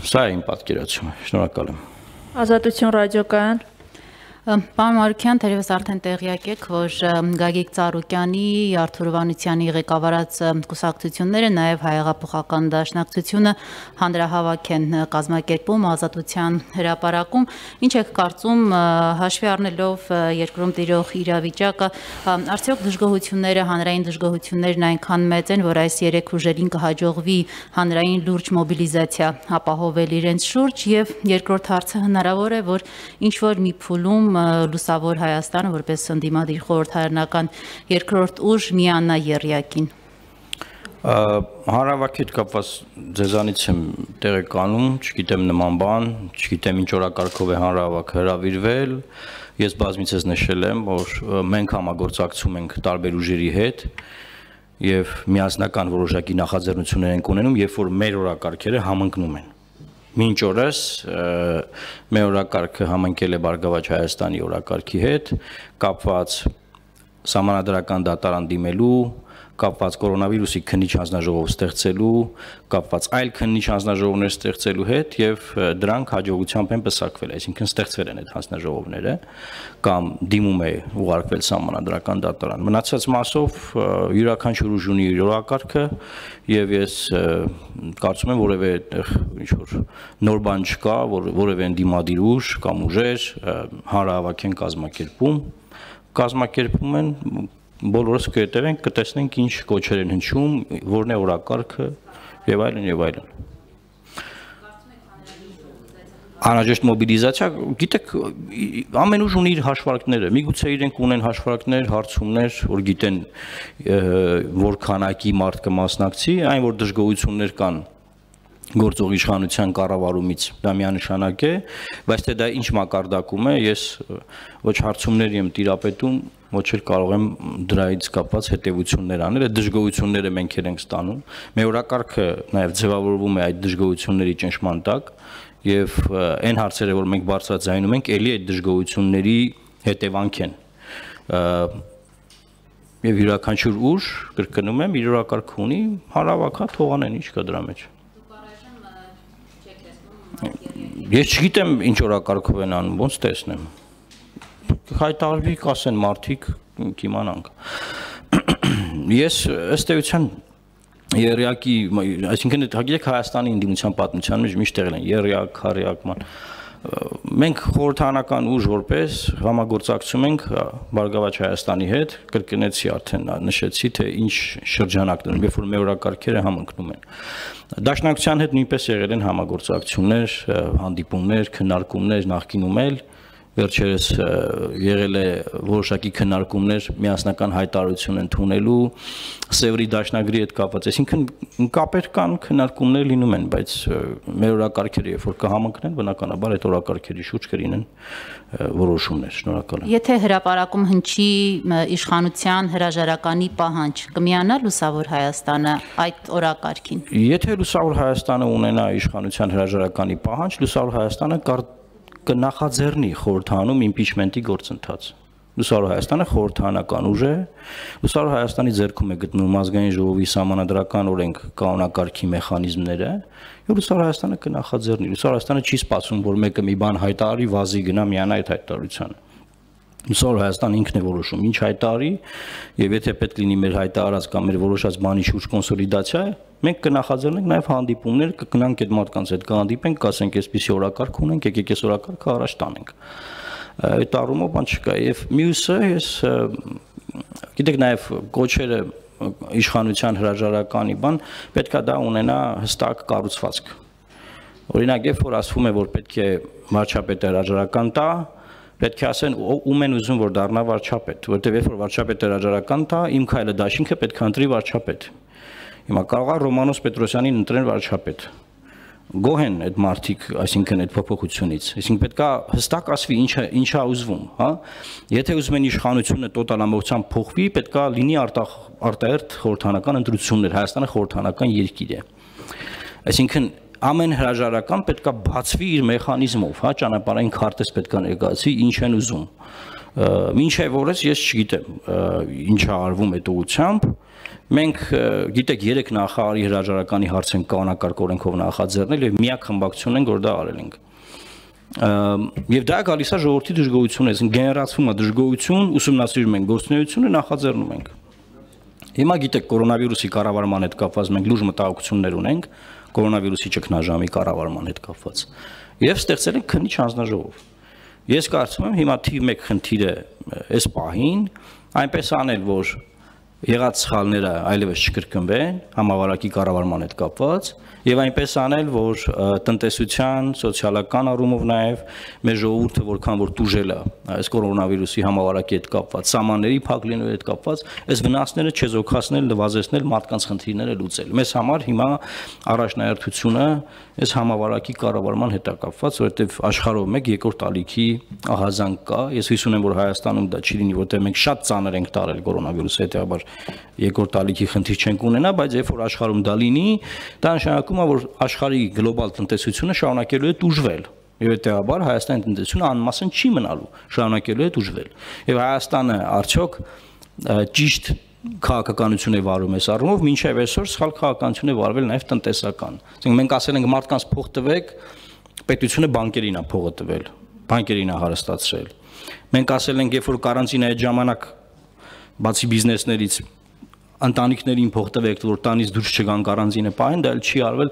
Սա է իմ պատկերացումը, շնորհակալ եմ։ Ազատություն ռադիոկայան։ Պարոն Մարուքյան, թերևս արդեն տեղյակ եք, որ Գագիկ Ծառուկյանի, Արթուր Վանության ղեկավարած կուսակցությունները, նաև Հայեղափոխական դաշնակցությունը հանրահավաք են կազմակերպում Ազատության հրապարակում։ Ինչ եք կարծում, հաշվի առնելով երկրում տիրող իրավիճակը, արդյոք դժգոհությունները, հանրային դժգոհություններն այնքան մեծ են, որ այս երեք ուժերին կհաջողվի հանրային լուրջ մոբիլիզացիա ապահովել իրենց շուրջ, եւ երկրորդ հարցը հնարավոր է, որ ինչ որ մի փուլում Լուսավոր Հայաստանը որպես ընդդիմադիր խորհրդարանական երկրորդ ուժ միանա եռյակին։ Հանրահավաքի հետ կապված ձեզանից եմ տեղեկանում, չգիտեմ նման բան, չգիտեմ ինչ օրակարգով է հանրահավաքը հրավիրվել, ես բազմիցս նշել եմ, որ մենք համագործակցում ենք տարբեր ուժերի հետ եւ միասնական որոշակի նախաձեռնություններ ենք ունենում, երբ որ մեր օրակարգերը համընկնում են։ Մինչ օրս մեր օրակարգը համընկել է Բարգավաճ Հայաստանի օրակարգի հետ, կապված սահմանադրական դատարան դիմելու, կապված կորոնավիրուսի քննիչ հանձնաժողով ստեղծելու, կապված այլ քննիչ հանձնաժողովներ ստեղծելու հետ եւ դրանք հաջողությամբ են պսակվել, այսինքն ստեղծվել են այդ հանձնաժողովները կամ դիմում է ուղարկվել սահմանադրական դատարան։ Մնացած մասով յուրաքանչյուր ուժ ունի իր օրակարգը եւ ես կարծում եմ որևէ ինչ որ նոր բան չկա, որևէ ընդդիմադիր ուժ կամ ուժեր հանրահավաք են կազմակերպում են բոլորս կհետևենք, կտեսնենք ինչ կոչեր են հնչում, որն է օրակարգը եւ այլն եւ այլն։ Անհրաժեշտ մոբիլիզացիա, գիտեք, ամեն ուժ ունի իր հաշվարկները, միգուցե իրենք ունեն հաշվարկներ, հարցումներ, որ գիտեն որ քանակի մարդ կմասնակցի, այն որ դժգոհություններ կան գործող իշխանության կառավարումից դա միանշանակ է, բայց թե դա ինչ մակարդակում է, ես ոչ հարցումների եմ տիրապետում, ոչ էլ կարող եմ դրայից կապված հետևություններ անել, այդ դժգոհությունները մենք ենք ստանում, մեր օրակարգը նաև ձևավորվում է այդ դժգոհությունների ճնշման տակ եւ այն հարցերը, որ մենք բարձրաձայնում ենք, ելի այդ դժգոհությունների հետևանք են։ Եվ յուրաքանչյուր ուժ, կրկնում եմ, իր օրակարգը ունի, հանրահավաք թողանեն, ինչ կա դրա մեջ։ Ես չգիտեմ ինչ օրակարգով են անում, ոնց տեսնեմ։ Հայտարարվի, կասեն մարդիկ, կիմանանք։ Ես ըստ էության եռյակի, այսինքն գիտեք Հայաստանի ընդդիմության պատմության մեջ միշտ եղել են եռյակ, քառյակ, մենք խորհրդարանական ուժ որպես համագործակցում ենք Բարգավաճ Հայաստանի հետ, կրկնեցի արդեն նշեցի, թե ինչ շրջանակներում, երբ որ մեր օրակարգերը համընկնում են։ Դաշնակցության հետ նույնպես եղել են համագործակցություններ, հանդիպումներ, քննարկումներ նախկինում էլ վերջերս եղել է որոշակի քննարկումներ միասնական հայտարարություն ընդունելու Սևրի դաշնագրի հետ կապված, այսինքն կապեր կան, քննարկումներ լինում են, բայց մեր օրակարգերը երբ որ կհամընկնեն, բնականաբար այդ օրակարգերի շուրջ կլինեն որոշումներ։ Շնորհակալ եմ։ Եթե հրապարակում հնչի իշխանության հրաժարականի պահանջ, կմիանա Լուսավոր Հայաստանը այդ օրակարգին։ Եթե Լուսավոր Հայաստանը ունենա իշխանության հրաժարականի պահանջ, Լուսավոր Հայաստանը կնախաձեռնի խորհրդանում իմպիչմենտի գործընթաց։ Լուսավոր Հայաստանը խորհրդարանական ուժ է, Լուսավոր Հայաստանի ձեռքում է գտնվում ազգային ժողովի սահմանադրական օրենք կանոնակարգի մեխանիզմները, եւ Լուսավոր Հայաստանը կնախաձեռնի։ Լուսավոր Հայաստանը չի սպասում, որ մեկը մի բան հայտարարի, վազի գնա միանա այդ հայտարարությանը։ Լուսավոր Հայաստանը ինքն է որոշում ինչ հայտարարի, եւ եթե պետք լինի մեր հայտարարած կամ մեր որոշած բանի շուրջ կոնսոլիդացիա, մենք կնախաձեռնենք նաև հանդիպումներ, կգնանք այդ մարդկանց հետ կհանդիպենք, կասենք այսպիսի օրակարգ ունենք, եկեք այս օրակարգը առաջ տանենք։ Այդ առումով բան չկա, եւ մյուսը ես գիտեք նաև կոչերը իշխանության հրաժարականի բան պետքա դա ունենա հստակ կառուցվածք։ Օրինակ, երբ որ ասվում է, որ պետք է վարչապետը հրաժարական տա, պետք է ասեն ում են ուզում որ դառնա վարչապետ, որտեղ երբ որ վարչապետը հրաժարական տա, իմ քայլը դաշինքը պետք է ընտրի վարչապետ։ Հիմա կարող է Ռոմանոս Պետրոսյանին ընտրեն վարչապետ։ Գոհ են այդ մարդիկ, այսինքն այդ փոփոխությունից, այսինքն պետք է հստակ ասվի ինչա ուզվում, հա։ Եթե ուզում են իշխանությունը տոտալ ամբողջությամբ փոխվի, պետք է լինի արտահերթ խորհրդարանական ընտրություններ, Հայաստանը խորհրդարանական երկիր է։ Այսինքն ամեն հրաժարական պետք է բացվի իր մեխանիզմով, հա, ճանապարհային քարտեզ պետք է ներկայացվի, ինչ են ուզում։ Մինչև օրս ես չգիտեմ ինչ է արվում այդ ուղղությամբ, Մենք գիտեք 3 նախարարի հրաժարականի հարց են կանոնակարգ օրենքով նախաձեռնել եւ միակ խմբակցությունն են, որ դա արել ենք։ Եվ դա գալիս է ժողովրդի դժգոհությունից, գեներացվում է դժգոհություն, ուսումնասիրում ենք գործունեությունը, նախաձեռնում ենք։ Հիմա գիտեք կորոնավիրուսի կառավարման հետ կապված մենք լուրջ մտահոգություններ ունենք, կորոնավիրուսի ճգնաժամի կառավարման հետ կապված։ Եվ ստեղծել ենք քննիչ հանձնաժողով։ Ես կարծում եմ հիմա թիվ 1 խնդիրը այս պահին այնպես անել, որ եղած սխալները այլևս չկրկնվեն համավարակի կառավարման հետ կապված եւ այնպես անել, որ տնտեսության, սոցիալական առումով նաեւ մեր ժողովուրդը որքան որ տուժել է այս կորոնավիրուսի համավարակի հետ կապված, սահմանների փակ լինելու հետ կապված, այս վնասները չեզոքացնել, նվազեցնել, մարդկանց խնդիրները լուծել։ Մեզ համար հիմա առաջնահերթությունը այս համավարակի կառավարման հետ է կապված, որովհետեւ աշխարհով մեկ երկրորդ ալիքի ահազանգ կա։ Ես հույս ունեմ, որ Հայաստանում դա չի լինի, որովհետեւ մենք շատ ծանր ենք տարել կորոնավիրուսի հետեւաբար երկրորդ ալիքի խնդիր չենք ունենա, բայց երբ որ աշխարհում դա լինի, դա նշանակում է, որ աշխարհի գլոբալ տնտեսությունը շարունակելու է տուժվել։ Եվ հետեւաբար Հայաստանի տնտեսությունը անմասն չի մնալու, շարունակելու է տուժվել։ Եվ Հայաստանը արդյոք ճիշտ քաղաքականություն է վարում այս առումով, մինչև այսօր սխալ քաղաքականություն է վարվել նաև տնտեսական։ Այսինքն մենք ասել ենք մարդկանց փող տվեք, պետությունը բանկերին է փողը տվել, բանկերին է հարստացրել։ Մենք ասել ենք, երբ որ կարանտինա այդ ժամանակ բացի բիզնեսներից ընտանիքներին փող տվեք, որ տանից դուրս չգան կարանտինը պահեն, դա էլ չի արվել,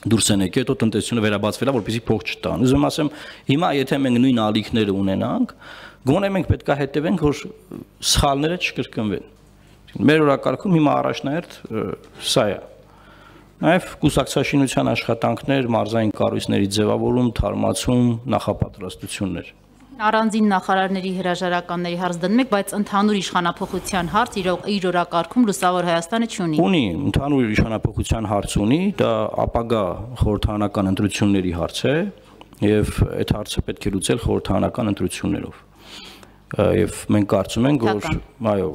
դուրս են եկել, հետո տնտեսությունը վերաբացվել է, որպեսզի փող չտան։ Ուզում ասեմ, հիմա եթե մենք նույն ալիքները ունենանք, գոնե մենք պետք է հետևենք, որ սխալները չկրկնվեն։ Մեր օրակարգում հիմա առաջնահերթ սա է։ Նաև կուսակցաշինության աշխատանքներ, մարզային կառույցների ձևավորում, թարմացում, նախապատրաստություններ։ Առանձին նախարարների հրաժարականների հարց դնում եք, բայց ընդհանուր իշխանափոխության հարց իր օրակարգում Լուսավոր Հայաստանը չունի։ Ունի, ընդհանուր իշխանափոխության հարց ունի, դա ապագա խորհրդարանական ընտրությունների հարց է, եւ այդ հարցը պետք է լուծել խորհրդարանական ընտրություններով։ Եվ մենք կարծում ենք, որ այո,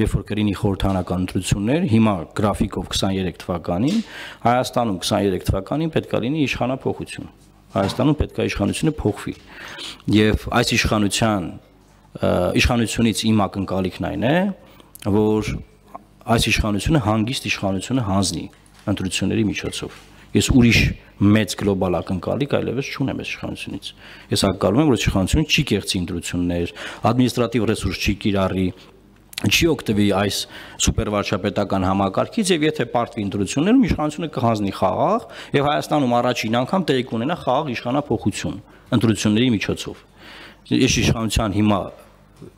երբ որ կլինի խորհրդարանական ընտրություններ, հիմա գրաֆիկով 23 թվականին, Հայաստանում 23 թվականին պետք է լինի իշխանափոխություն։ Հայաստանում պետք է իշխանությունը փոխվի։ Եվ այս իշխանությունից իմ ակնկալիքն այն է, որ այս իշխանությունը հանգիստ իշխանությունը հանձնի ընտրությունների միջոցով։ Ես ուրիշ մեծ գլոբալ ակնկալիք այլևս չունեմ այս իշխանությունից։ Ես ակնկալում եմ, որ իշխանությունը չի կեղծի ընտրություններ, ադմինիստրատիվ ռեսուրս չի կիրառի, չի օգտվի այս սուպերվարչապետական համակարգից եւ եթե պարտվի ընտրություններում իշխանությունը կհանձնի խաղաղ եւ Հայաստանում առաջին անգամ տեղի կունենա խաղաղ իշխանափոխություն ընտրությունների միջոցով։ Ես իշխանության հիմա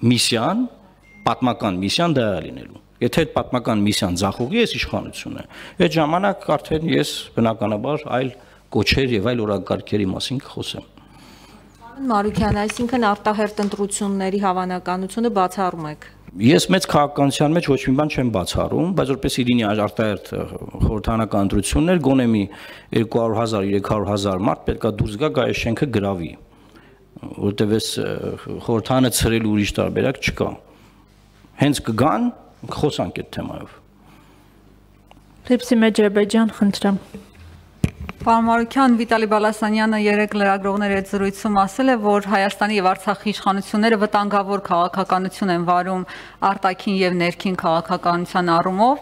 միսիան, պատմական միսիան դա է լինելու։ Եթե այդ պատմական միսիան ձախողի այս իշխանությունը, այդ ժամանակ արդեն ես բնականաբար այլ կոչեր եւ այլ օրակարգերի մասին կխոսեմ։ Մարուկյան, այսինքն արտահերթ ընտրությունների հավանականությունը բացառում եք։ Ես մեծ քաղաքականության մեջ ոչ մի բան չեմ բացառում, բայց որպեսզի լինի արտահերթ խորհրդարանական ընտրություններ, գոնե մի 200,000, 300,000 մարդ պետքա դուրս գա այս շենքը գրավի, որտեղ այս խորհրդարանը ցրել ուրիշ տարբերակ չկա։ Հենց կգան խոսանք այդ թեմայով։ Լիպսի Մեջերբեջյան, խնդրեմ։ Պարոն Մարուկյան, Վիտալի Բալասանյանը երեկ լրագրողների հետ զրույցում ասել է, որ Հայաստանի եւ Արցախի իշխանությունները վտանգավոր քաղաքականություն են վարում արտաքին եւ ներքին քաղաքականության առումով,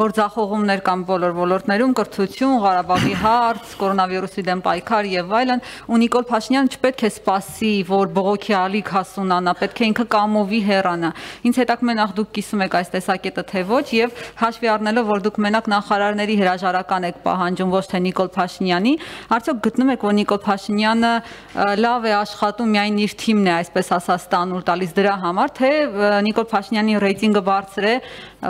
որ ձախողումներ կան բոլոր ոլորտներում, կրթություն, Ղարաբաղի հարց, կորոնավիրուսի դեմ պայքար եւ այլն, ու Նիկոլ Փաշինյանը չպետք է սպասի, որ բողոքի ալիք հասունանա, պետք է ինքը կամովի հեռանա։ Ինձ հետաքրքրում է նախ դուք կիսում եք այս տեսակետը թե ոչ եւ հաշվի առնելով, որ դուք մենակ նախարարների հրաժարական եք պահանջում, ոչ թե Նիկոլ Փաշինյանի, արդյոք գտնում եք, որ Նիկոլ Փաշինյանը լավ է աշխատում, միայն իր թիմն է, այսպես ասած, տանուլ տալիս դրա համար, թե Նիկոլ Փաշինյանի ռեյտինգը բարձր է,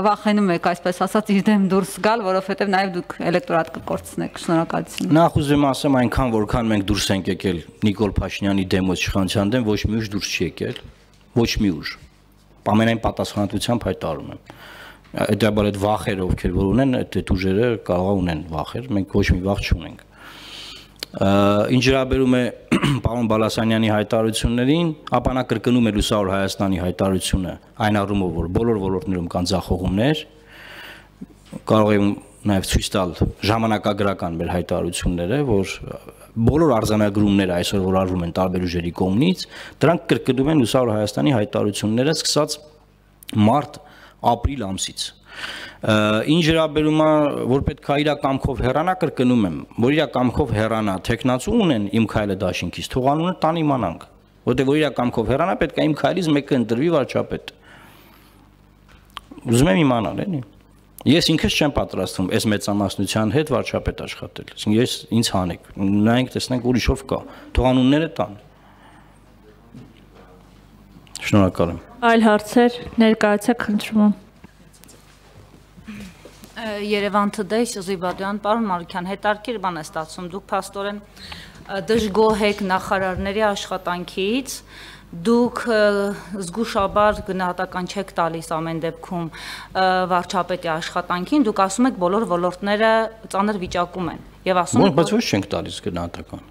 վախենում եք, այսպես ասած, իր դեմ դուրս գալ, որովհետև նաև դուք էլեկտորատ կկորցնեք։ Շնորհակալություն։ Նախ ուզում ասեմ, այնքան որքան մենք դուրս ենք եկել Նիկոլ Փաշինյանի դեմ իշխանության դեմ, ոչ մի ուժ դուրս չի եկել, ոչ մի ուժ։ Ամենայն պատասխանատվությամբ հայտարարում եմ։ Այդաբար այդ վախերը ովքեր որ ունեն, այդ ուժերը կարող ունեն վախեր, մենք ոչ մի վախ չունենք։ Ինչ վերաբերում է պարոն Բալասանյանի հայտարարություններին, ապա նա կրկնում է Լուսավոր Հայաստանի հայտարարությունը այն առումով, որ բոլոր ոլորտներում կան ձախողումներ, կարող եմ նաև ցույց տալ ժամանակագրական մեր հայտարարությունները, որ բոլոր արձանագրումները այսօր որ արվում են տարբեր ուժերի կողմից, դրանք կրկնում են Լուսավոր Հայաստանի հայտարարությունները սկսած մարտ ապրիլ ամսից։ Ինչ վերաբերում է, որ պետք է իր կամքով հեռանա, կրկնում եմ, որ իր կամքով հեռանա, տեխնացու ունեն իմ քայլը դաշինքից, թող անունը տան իմանանք, որտեղ որ իր կամքով հեռանա, պետք է իմ քայլից մեկը ընտրվի վարչապետ։ Ուզում եմ իմանալ, էլի։ Ես ինքս չեմ պատրաստվում այս մեծամասնության հետ վարչապետ աշխատել։ Ես ինձ հանեք, նայենք տեսնենք ուրիշով կա, թող անունները տան։ Շնորհակալ եմ։ Այլ հարցեր ներկայացեք, խնդրում եմ։ Երևան Today Զիբադյան, պարոն Մարուկյան, հետարքիր բան է ստացվում, դուք փաստորեն դժգոհ եք նախարարների աշխատանքից, դուք զգուշաբար գնահատական չեք տալիս ամեն դեպքում վարչապետի աշխատանքին, դուք ասում եք բոլոր ոլորտները ծանր վիճակում են եւ ասում եք բայց ոչ չենք տալիս գնահատական։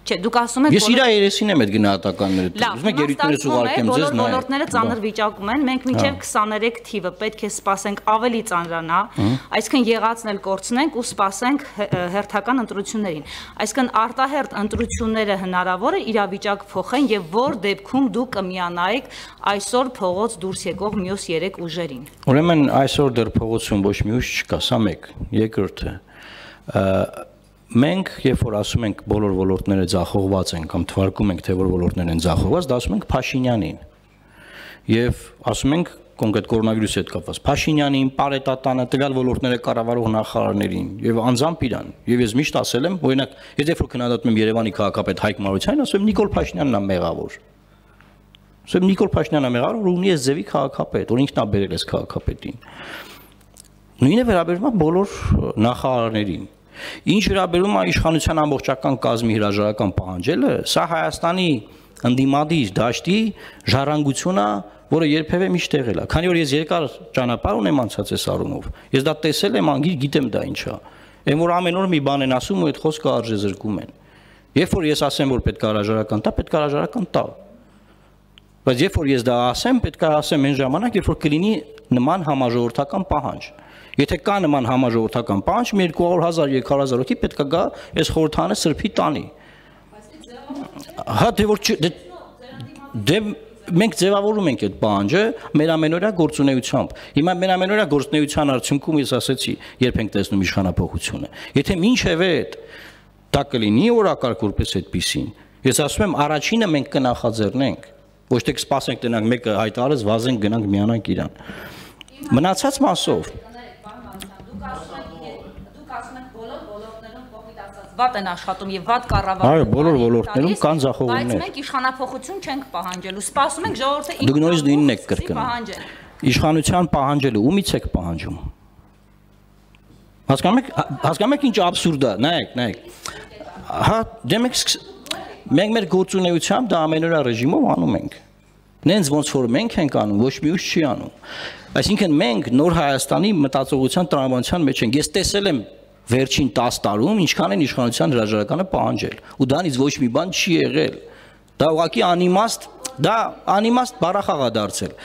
Չէ, դուք ասում եք Ես իր երեսին եմ այդ գնահատականները տալիս։ Ուզում եք երիտներս ուղարկեմ ձեզ նայ։ Բոլորները ծանր վիճակում են, մենք մինչև 23 թիվը պետք է սպասենք ավելի ծանրանա, այսինքն եղածն էլ կորցնենք ու սպասենք հերթական ընտրություններին։ Այսինքն արտահերթ ընտրությունները հնարավոր է իրավիճակ փոխեն եւ որ դեպքում դուք կմիանայեք այսօր փողոց դուրս եկող մյուս 3 ուժերին։ Ուրեմն այսօր դեռ փողոցում ոչ մի ուժ չկա, սա մեկ, երկրորդը Մենք, երբ որ ասում ենք բոլոր ոլորտները ձախողված են կամ թվարկում ենք, թե որ ոլորտներն են ձախողված, դա ասում ենք Փաշինյանին։ Եվ ասում ենք կոնկրետ կորոնավիրուսի հետ կապված Փաշինյանին, Պարետատանը, տվյալ ոլորտները կառավարող նախարարներին եւ անձամբ իրան։ Եվ ես միշտ ասել եմ, օրինակ, ես երբ որ քննադատում եմ Երևանի քաղաքապետ Հայկ Մարությանին, ասում եմ Նիկոլ Փաշինյանն է մեղավոր։ Ասում եմ Նիկոլ Փաշինյանն է մեղավոր, որ ունի այս ձևի քաղաքապետ, որ ինքն է բերել այս քաղաքապետին։ Նույնը վերաբերում է բոլոր նախարարներին։ Ինչ վերաբերում է իշխանության ամբողջական կազմի հրաժարական պահանջելը, սա Հայաստանի ընդդիմադիր դաշտի ժառանգությունը, որը երբևէ միշտ եղել է։ Քանի որ ես երկար ճանապարհ ունեմ անցած այս առումով, ես դա տեսել եմ, անգիր գիտեմ դա ինչ է։ Այն որ ամեն օր մի բան են ասում ու այդ խոսքը արժե զրկում են։ Երբ որ ես ասեմ, որ պետք է հրաժարական տա, պետք է հրաժարական տա։ Բայց երբ որ ես դա ասեմ, պետք է ասեմ այն ժամանակ, երբ որ կլինի նման համաժողովրդական պահանջ։ Եթե կա նման համաժողովրդական պահանջ, 200,000-300,000 հոգի պետք է գա այս խորհրդանը սրբի տանի։ Հա դե որ դե մենք ձևավորում ենք այդ պահանջը մեր ամենօրյա գործունեությամբ։ Հիմա մեր ամենօրյա գործունեության արդյունքում ես ասեցի, երբ ենք տեսնում իշխանափոխությունը։ Եթե մինչև այդ դա կլինի օրակարգ որպես այդպեսին, ես ասում եմ առաջինը մենք կնախաձեռնենք, ոչ թե կսպասենք տնանք մեկը հայտարարեց, վազենք գնանք միանանք իրան։ Մնացած մասով վատ են աշխատում եւ վատ կառավարում։ Այո, բոլոր ոլորտներում կան ձախողումներ։ Բայց մենք իշխանափոխություն չենք պահանջելու։ Սպասում ենք ժողովրդը Դուք նույնիսկ նույնն եք կրկնում։ Իշխանության պահանջելը ումից եք պահանջում։ Հասկանում եք ինչ աբսուրդ է, նայեք։ Հա, դե մենք մեր գործունեությամբ դա ամենօրյա ռեժիմով անում ենք։ Նենց ոնց որ մենք ենք անում, ոչ մի ուժ չի անում։ Այսինքն մենք նոր Հայաստանի մտածողության տրամաբանության մեջ ենք։ Ես տեսել եմ վերջին 10 տարում ինչքան են իշխանության հրաժարականը պահանջել ու դրանից ոչ մի բան չի եղել դա ուղղակի անիմաստ բառախաղ է դարձել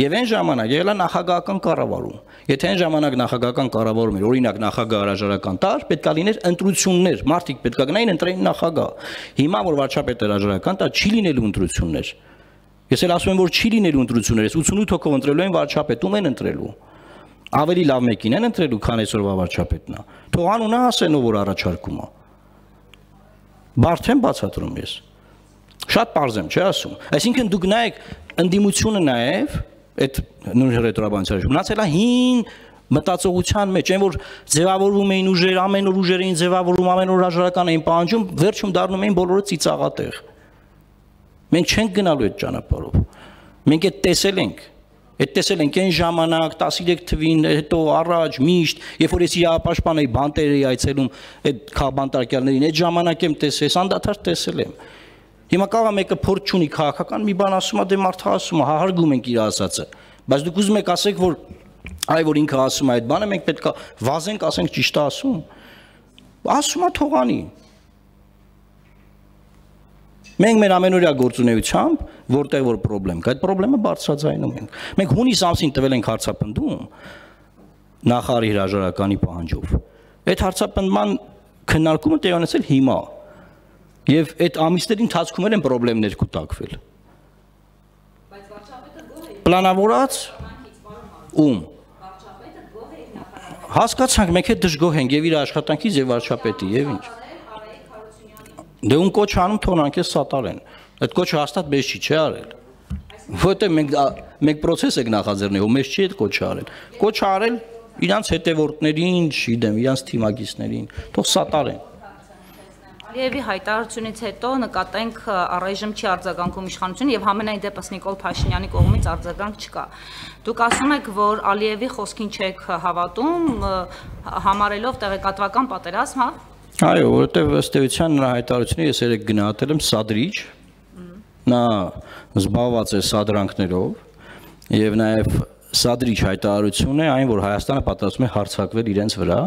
եւ այն ժամանակ եղել է նախագահական կառավարում եթե այն ժամանակ նախագահական կառավարում էր օրինակ նախագահ հրաժարական տար պետք է լիներ ընտրություններ մարդիկ պետք է գնային ընտրեին նախագահ հիմա որ վարչապետը հրաժարական տա չի լինելու ընտրություններ ես էլ ասում եմ որ չի լինելու ընտրություններ 88 հոգով ընտրելու են վարչապետում են ընտրելու ավելի լավ մեկին են ընտրելու, քան այսօրվա վարչապետն է։ Թող անունը ասեն ով որ առաջարկում է։ Բարդ եմ բացատրում ես։ Շատ պարզ եմ, չի ասում։ Այսինքն դուք նայեք ընդդիմությունը նաև այդ նույն ռետրոբանցիա մնացել է հին մտածողության մեջ, այն որ ձևավորվում էին ուժեր, ամեն օր ուժեր էին ձևավորում, ամեն օր հրաժարական էին պահանջում, վերջում դառնում էին բոլորը ծիծաղատեղ։ Մենք չենք գնալու այդ ճանապարհով։ Մենք այդ տեսել ենք։ Այդ տեսել ենք այն ժամանակ 13 թվին, հետո առաջ միշտ, երբ որ ես իրավապաշտպան էի բանտեր էի այցելում այդ բանտարկյալներին, այդ ժամանակ եմ տեսել, անդադար տեսել եմ։ Հիմա կարող է մեկը փորձ չունի քաղաքական մի բան ասում է, դե մարդը ասում է, հարգում ենք իր ասածը։ Բայց դուք ուզում եք ասեք, որ այ որ ինքը ասում է այդ բանը, մենք պետք է վազենք, ասենք ճիշտ է ասում։ Ասում է թողանի։ Մենք մեր ամենօրյա գործունեությամբ որտեղ որ խնդրեմ կա, այդ խնդրեմը բարձրաձայնում ենք։ Մենք հունիս ամսին տվել ենք հարցապնդում նախարարի հրաժարականի պահանջով։ Այդ հարցապնդման քննարկումը տեղի ունեցել հիմա։ Եվ այդ ամիսների ընթացքում են խնդիրներ կուտակվել։ Բայց վարչապետը գոհ է։ Պլանավորած ում։ Վարչապետը Հասկացանք, մենք հետ դժգոհ ենք եւ իր աշխատանքից եւ վարչապետի եւ ինչ։ Դե ուն կոչ անում թողնանք էս սատարեն։ Այդ կոչը հաստատ մեզ չի արել։ Որտեղ մենք process եք նախաձեռնել, ու մեզ չի այդ կոչը արել։ Կոչ արել իրանց հետևորդներին, չգիտեմ, իրանց թիմակիցներին, թող սատարեն։ Ալիևի հայտարարությունից հետո նկատենք առայժմ չի արձագանքում իշխանությունը եւ համենայն դեպս Նիկոլ Փաշինյանի կողմից արձագանք չկա։ Դուք ասում եք, որ Ալիևի խոսքին չեք հավատում, համարելով տեղեկատվական պատերազմ, հա։ Այո, որովհետեւ ըստ էության նրա հայտարարությունը ես երեք գնահատել եմ սադրիչ, նա զբաղված է սադրանքներով եւ նաեւ սադրիչ հայտարարություն է այն, որ Հայաստանը պատրաստվում է հարձակվել իրենց վրա,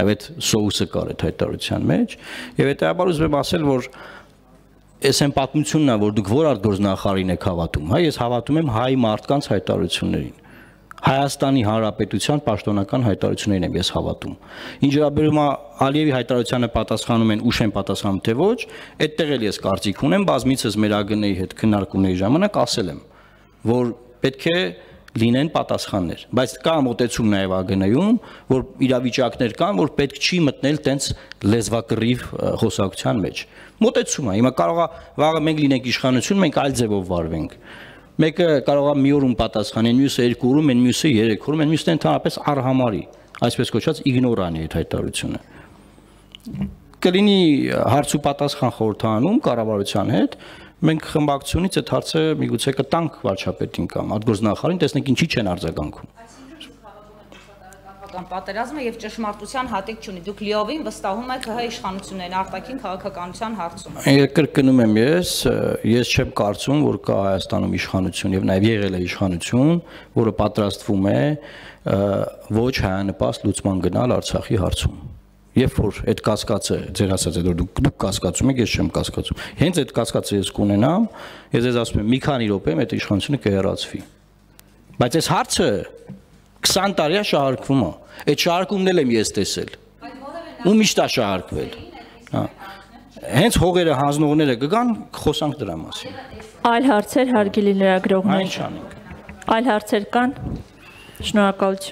այդ սոուսը կար այդ հայտարարության մեջ եւ հետեւաբար ուզում եմ ասել, որ այս այն պատմությունն է, որ դուք որ արտգործնախարարին եք հավատում, հա, ես հավատում եմ հայ մարդկանց հայտարարություններին, Հայաստանի Հանրապետության պաշտոնական հայտարարություններին եմ ես հավատում։ Ինչ վերաբերում է Ալիևի հայտարարությանը պատասխանում են ուշ են պատասխանում թե ոչ, այդտեղ էլ ես կարծիք ունեմ, բազմիցս մեր ԱԳՆ-ի հետ քննարկումների ժամանակ ասել եմ, որ պետք է լինեն պատասխաններ, բայց կա մոտեցում նաև ԱԳՆ-ում, որ իրավիճակներ կան, որ պետք չի մտնել տենց լեզվակռիվ խոսակցության մեջ։ Մոտեցում է, հիմա կարող է վաղը մենք լինենք իշխանություն, մենք այլ ձևով վարվենք։ Մեկը կարող է մի օրում պատասխանեն, մյուսը 2 օրում, այն մյուսը 3 օրում, այն մյուսը ընդհանրապես արհամարի, այսպես կոչված իգնորանի այդ հայտարարությունը։ Կլինի հարց ու պատասխան խորհրդանում կառավարության հետ, մենք խմբակցությունից այդ հարցը միգուցե կտանք վարչապետին կամ արտգործնախարարին, տեսնենք ինչի չեն արձագանքում։ Պատերազմը եւ ճշմարտության հատիկ չունի։ Դուք լիովին վստահում եք ՀՀ իշխանություններին արտաքին քաղաքականության հարցում։ Կրկնում եմ ես չեմ կարծում, որ կա Հայաստանում իշխանություն եւ նաեւ եղել է իշխանություն, որը պատրաստվում է ոչ հայանպաստ լուծման գնալ Արցախի հարցում։ Երբ որ այդ կասկածը ձեր ասած այդ որ դուք կասկածում եք, ես չեմ կասկածում։ Հենց այդ կասկածը ես կունենամ, ես ձեզ ասում եմ մի քանի րոպեում այդ իշխանությունը կհեռացվի։ Բայց այս հարցը 20 տարի է շահարկվում է։ Այդ շահարկումն էլ եմ ես տեսել։ Ու միշտ է շահարկվել։ Հա։ Հենց հողերը հանձնողները կգան, խոսանք դրա մասին։ Այլ հարցեր հարգելի լրագրողներ։ Այն չանենք։ Այլ հարցեր կան։ Շնորհակալություն։